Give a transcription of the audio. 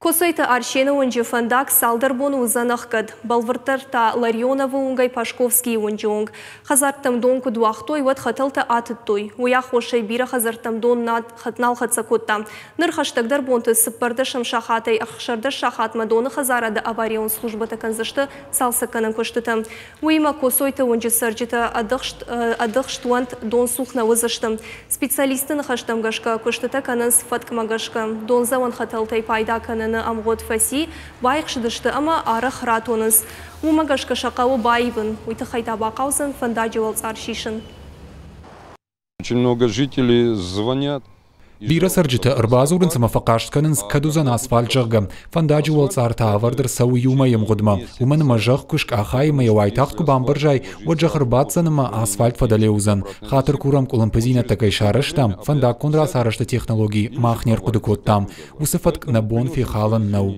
Коцойты Арсены уынджы фӕндаг цалдӕр боны уыдзӕн ӕхгӕд. Бӕлвырддӕр та Ларионовы уынгӕй Пашковскийы уынджы онг. Хӕдзӕрттӕм дон куыд уагътой, уӕд хӕтӕлтӕ атыдтой. Уый аххосӕй бирӕ хӕдзӕрттӕм дон нал хӕццӕ кодта. Ныр хӕстӕгдӕр бонты цыппӕрдӕсӕм сахатӕй 16 сахатмӕ доны хӕдзарады аварион службӕтӕ кӕндзысты цалцӕггӕнӕн куыстытӕ. Уыимӕ Коцойты уынджы цӕрджытӕ ӕдыхст уӕнт, дон цух нӕ уыдзысты. Специалистты ныхӕстӕм гӕсгӕ, куыстытӕ кӕнынц фӕткмӕ гӕсгӕ. Дондзӕуӕн хӕтӕлтӕй пайда кӕныны ӕмгъуыд фӕци, баихсыдысты ӕмӕ арӕх ратонынц. Уымӕ гӕсгӕ сӕ хъӕуы баивын. Уый тыххӕй та бахъӕудзӕн фӕндаджы уӕлцъар сисын. Очень много жителей звонят. Бирӕ цӕрджытӕ ӕрбадзурынц ӕмӕ фӕхъаст кӕнынц, кӕд уыдзӕн асфальт, зӕгъгӕ. Фӕндаджы уӕлцъар та ӕвӕрд ӕрцӕуы иумӕйы ӕмгъуыдмӕ, уымӕн ӕмӕ зӕхх куы скъахай ӕмӕ йӕ уайтагъд куы бамбӕрзай, уӕд зӕхх ӕрбаддзӕн ӕмӕ асфальт фӕдӕле уыдзӕн. Хатыр курӕм, къуылымпыдзинӕдтӕ кӕй сарӕзтам, фӕндаггон рацарӕзты технологи мах не рхъуыды кодтам. Уыцы фӕтк нӕ бон фехалын нӕу.